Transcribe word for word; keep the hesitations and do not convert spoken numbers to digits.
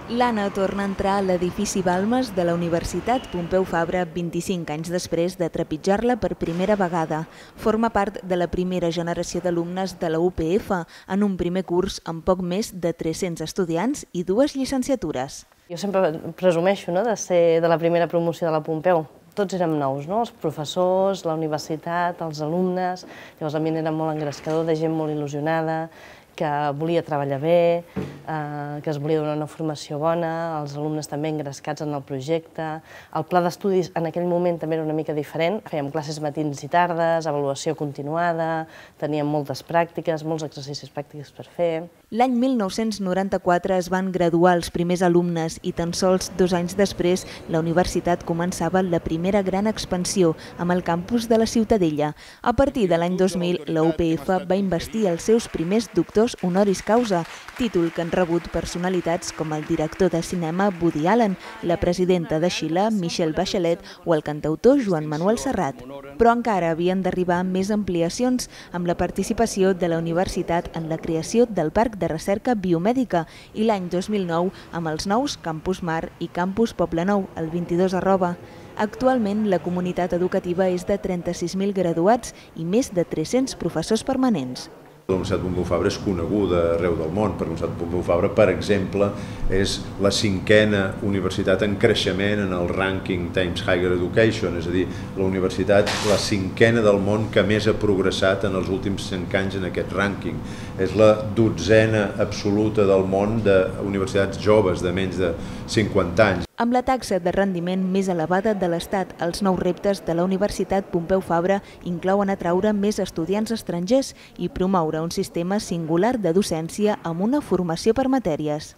L'Anna torna a entrar a l'edifici Balmes de la Universitat Pompeu Fabra vint-i-cinc anys després de trepitjar-la per primera vegada. Forma part de la primera generació d'alumnes de la U P F en un primer curs amb poc més de tres-cents estudiants i dues llicenciatures. Jo sempre presumeixo no, de ser de la primera promoció de la Pompeu. Tots érem nous, no? Els professors, la universitat, els alumnes. Llavors l'ambient era molt engrescador, de gent molt il·lusionada, que volia treballar bé, eh, que es volia donar una formació bona, els alumnes també engrescats en el projecte. El pla d'estudis en aquell moment també era una mica diferent. Fèiem classes matins i tardes, avaluació continuada, teníem moltes pràctiques, molts exercicis pràctics per fer. L'any mil nou-cents noranta-quatre es van graduar els primers alumnes i tan sols dos anys després la universitat començava la primera gran expansió amb el campus de la Ciutadella. A partir de l'any dos mil, la U P F va investir els seus primers doctors honoris causa, títol que han rebut personalitats com el director de cinema Woody Allen, la presidenta de Xile, Michelle Bachelet, o el cantautor Joan Manuel Serrat. Però encara havien d'arribar més ampliacions amb la participació de la universitat en la creació del Parc de Recerca Biomèdica i l'any dos mil nou amb els nous Campus Mar i Campus Poblenou, el vint-i-dos arroba. Actualment, la comunitat educativa és de trenta-sis mil graduats i més de tres-cents professors permanents. La Universitat Pompeu Fabra és coneguda arreu del món, perquè la Universitat Pompeu Fabra, per exemple, és la cinquena universitat en creixement en el rànquing Times Higher Education, és a dir, la universitat la cinquena del món que més ha progressat en els últims cinc anys en aquest rànquing. És la dotzena absoluta del món d'universitats joves de menys de cinquanta anys. Amb la taxa de rendiment més elevada de l'Estat, els nous reptes de la Universitat Pompeu Fabra inclouen atraure més estudiants estrangers i promoure un sistema singular de docència amb una formació per matèries.